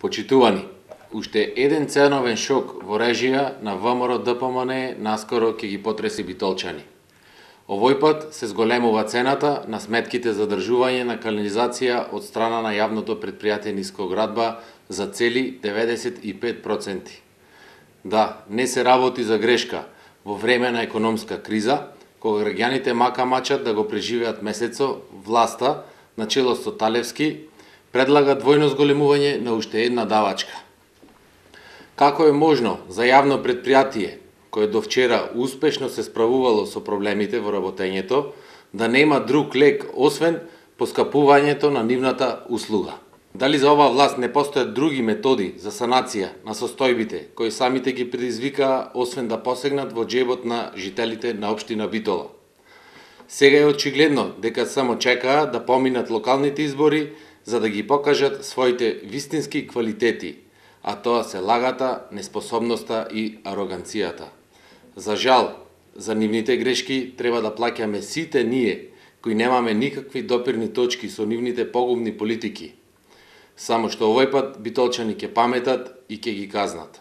Почитувани, уште еден ценовен шок во режија на ВМРО ДПМН наскоро ќе ги потреси битолчани. Овој пат се зголемува цената на сметките за држување на канализација од страна на јавното претпријатие Нискоградба за цели 95%. Да, не се работи за грешка во време на економска криза, кога граѓаните мака мачат да го преживеат месецо, власта, на чело со Талевски, предлага двојно зголемување на уште една давачка. Како е можно за јавно претпријатие, кое до вчера успешно се справувало со проблемите во работењето, да нема друг лек освен поскапувањето на нивната услуга? Дали за оваа власт не постојат други методи за санација на состојбите, кои самите ги предизвикаа освен да посегнат во џебот на жителите на општина Битола? Сега е очигледно дека само чекаа да поминат локалните избори за да ги покажат своите вистински квалитети, а тоа се лагата, неспособноста и ароганцијата. За жал, за нивните грешки треба да плаќаме сите ние, кои немаме никакви допирни точки со нивните погубни политики. Само што овој пат битолчани ќе паметат и ќе ги казнат.